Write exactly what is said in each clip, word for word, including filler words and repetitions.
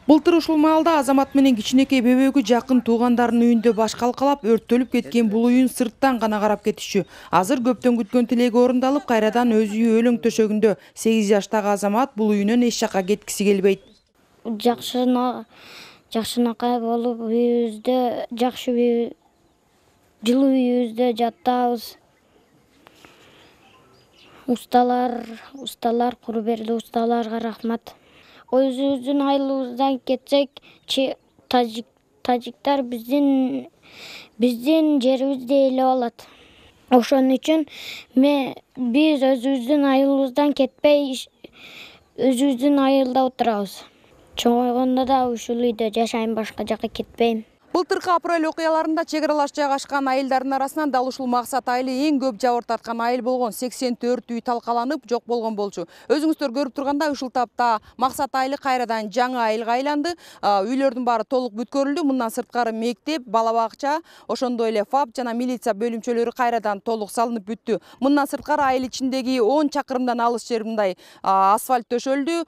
Былтыр ушул маалда Азамат менен кичинекей бебөгү жакын туугандарынын үйүндө баш калкалап, өрттөлүп кеткен бул үйүн сырттан гана карап кетишчү. Азыр көптөн күткөн тилеги орундалып, кайрадан өз үйү өлөң төшөгүндө. сегиз жаштагы Азамат бул үйүнөн эч жакка кеткиси келбейт. Жакшына жакшынакай болуп, үйүбүздө жакшы үй, жылуу үйүбүздө жаттабыз. Усталар, усталар куру берди, усталарга рахмат. Өзүбүздүн айылыбыздан кетсек, тажик тажиктар биздин биздин жерибизди ээлеп алат. Ошон үчүн мен биз өзүбүздүн айылыбыздан кетпей, өзүбүздүн айылда отурабыз. Чоңойгондо да ушул үйдө жашайм, башка жака кетпейм. Былтыркы апрель окуяларында чек аралаш жайгашкан айылдардын арасынан дал ушул Максат айылы эң көп жабыр тарткан айыл болгон. сексен төрт үй талкаланып жок болгон болчу. Өзүңүздөр көрүп тургандай, ушул тапта Максат айылы кайрадан жаңы айылга айланды. Үйлөрдүн баары толук бүткөрүлдү. Мындан сырткары мектеп, бала бакча, ошондой эле ФАП жана милиция бөлүмчөлөрү кайрадан толук салынып бүттү. Мындан сырткары айыл ичиндеги он чакырымдан алыс жер мындай асфальт төшөлдү.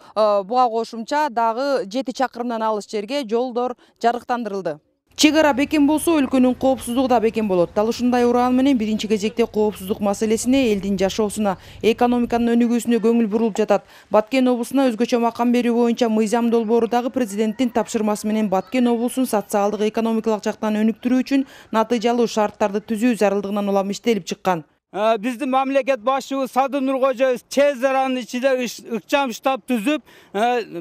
Буга кошумча дагы жети чакырымдан алыс жерге жолдор жарыктандырылды. Чек ара бекем болсо, өлкөнүн коопсуздугу да бекем болот. Дал ушундай уран менен биринчи кезекте коопсуздук маселесине, элдин жашоосуна, экономиканын өнүгүүсүнө көңүл бурулуп жатат. Баткен облусуна өзгөчө макам берүү боюнча мыйзам долбоору дагы президенттин тапшырмасы менен Баткен облусун социалдык экономикалык жактан өнүктүрүү үчүн натыйжалуу шарттарды түзүү зарылдыгынан улам иштелип чыккан. Биздин мамлекет башчыбыз Садыр Нуркожоев тез аранын ичинде ыкчам штаб түзүп,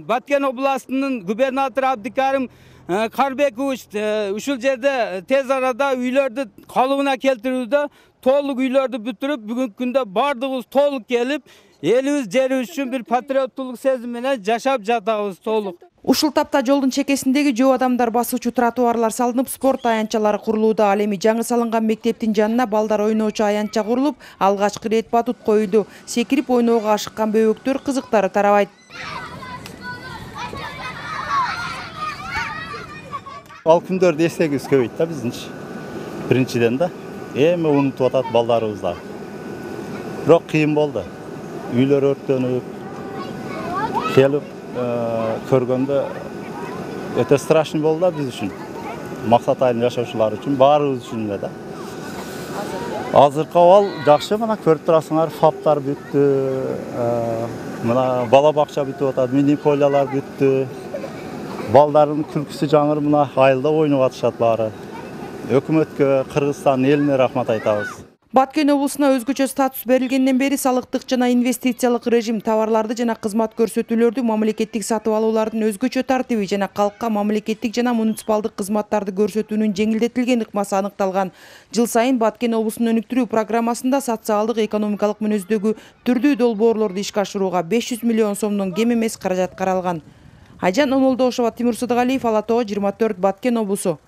Баткен областынын губернатору Абдикарим Карбекович ушул жерде тез арада үйлөрдү калыбына келтирүүдө толук үйлөрдү бүтүрүп, бүгүнкү күндө бардыгыбыз толук келип, элибиз жерибиз үчүн бир патриоттулук сезими менен жашап жатабыз толук. Ушул тапта жолдун чекесиндеги жөө адамдар басуучу тротуарлар салынып, спорт аянтчалары курулууда. Ал эми жаңы салынган мектептин жанына балдар ойноочу аянтча курулуп, алгачкы ирет батут коюлду. Секирип ойноого ашыккан бөбөктөр кызыктары тарабайт. Ал күндөрдү эстегибиз көбөйт да биздинчи. Биринчиден да эми унутуп атат балдарыбыз да. Бирок кыйын болду. Үйлөр өрттөнүп, келип көргөндө өтө страшный болду да биз үчүн. Максат айылын жашоочулар үчүн, баарыбыз үчүн эле да. Азыркы абал жакшы, мына көрүп турасыңар, фаптар бүттү, мына бала бакча бүтүп атат, мини полялар бүттү. Балдардын күлкүсү жаңыр, мына айылда ойноп атышат баары. Өкмөткө, Кыргызстан элине рахмат айтабыз. Баткен облусуна өзгөчө статус берилгенден бери салыктык жана инвестициялык режим, товарларды жана кызмат көрсөтүүлөрдү, мамлекеттик сатып алуулардын өзгөчө тартиби жана калкка мамлекеттик жана муниципалдык кызматтарды көрсөтүүнүн жеңилдетилген ыкмасы аныкталган. Жыл сайын Баткен облусун өнүктүрүү программасында социалдык экономикалык мүнөздөгү түрдүү долбоорлорду ишке ашырууга беш жүз миллион сомдон кем эмес каражат каралган. Айжан Омолдошова, Тимур Сыдыгалиев, Ала Тоо, жыйырма төрт, Баткен облусу.